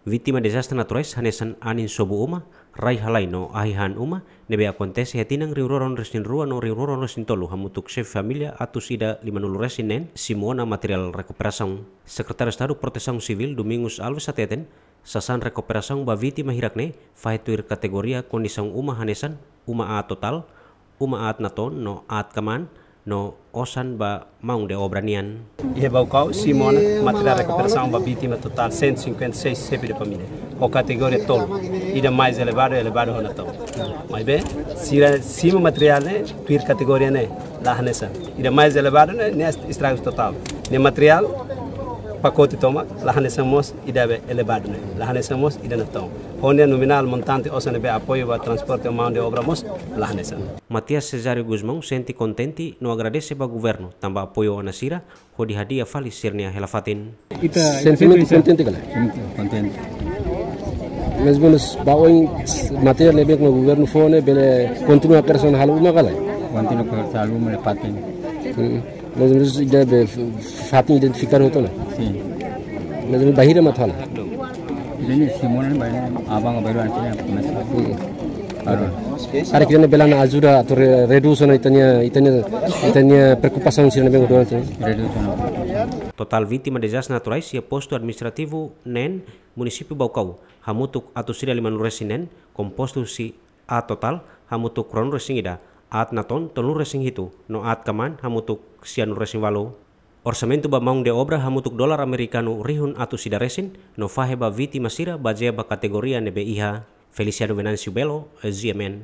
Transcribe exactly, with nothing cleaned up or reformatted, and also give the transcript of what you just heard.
Vítima dezastre naturais hanesan anin sobu uma, rai halai no ahi han uma, ne'ebé akontese iha tinan rihun rua ruanulu resin rua no rihun rua ruanulu resin tolu hamutuk xefe família atus ida limanulu resin neen simu ona materiál rekuperasaun. Sekretáriu Estadu Protesaun Sivíl Domingos Alves hateten, sasán rekuperasaun ba vítima hirak-ne'e fahe tuir kategoria kondisaun uma hanesan uma aat totál, uma aat natoon no aat kamaan, no osan ba maun de obra nian. Iha Baucau simu ona materiál rekuperasaun ba vítima totál cento e cinquenta e seis xefe de família. Ho kategoria tolu, ida mais elevadu, elevadu ho natoon. Maibé, sira simu materiál ne'e tuir kategoria ne'e, la hanesan. Ida mais elevadu ne'e, ne'e estragus totál. Ne'e materiál pakote tomak, la hanesan mós ida be elevadu ne'e, la hanesan mós ida natoon. Ho nia nominál montante osan ne'ebé apoiu ba transporte maun de obra mós la hanesan. Matias Cesário Gusmão sente kontente no agradese ba governu tanba apoiu ona sira, hodi hadi'a fali sira-nia hela-fatin. Ita sentimentu kontente ka lae? Sentimentu kontente. Mais ou menus ba oin materiál ne'ebé governu fó ne'e bele kontinua operasaun halo uma ka lae? Kontinua operasaun halo uma ne'e fatin. Hmm. Mais ou menus ida be f-, fatin identifikadu hotu ona? Sin. Mais ou menus bainhira mak atu halo? Ida-ne'e simu ona, bainhira aban baru antes ne'e komesa. Hmm. Agora. Karik ida-ne'e bele ona ajuda atu re-, redús ona ita-nia, ita-nia, ita-nia preokupasaun sira ne'ebé durante. Redús ona. Totál vítima dezastre naturais iha postu administrativu neen munisípiu Baucau hamutuk atus ida limanulu resin neen, kompostu husi aat totál hamutuk ruanulu resin ida, aat natoon tolunulu resin hitu, no aat kamaan hamutuk sianulu resin ualu. Orsamentu ba maun de obra hamutuk dolar amerikanu rihun atus ida resin, no fahe ba vítima sira bazeia ba kategoria ne'ebé iha. Feliciano Venâncio Belo, G M N.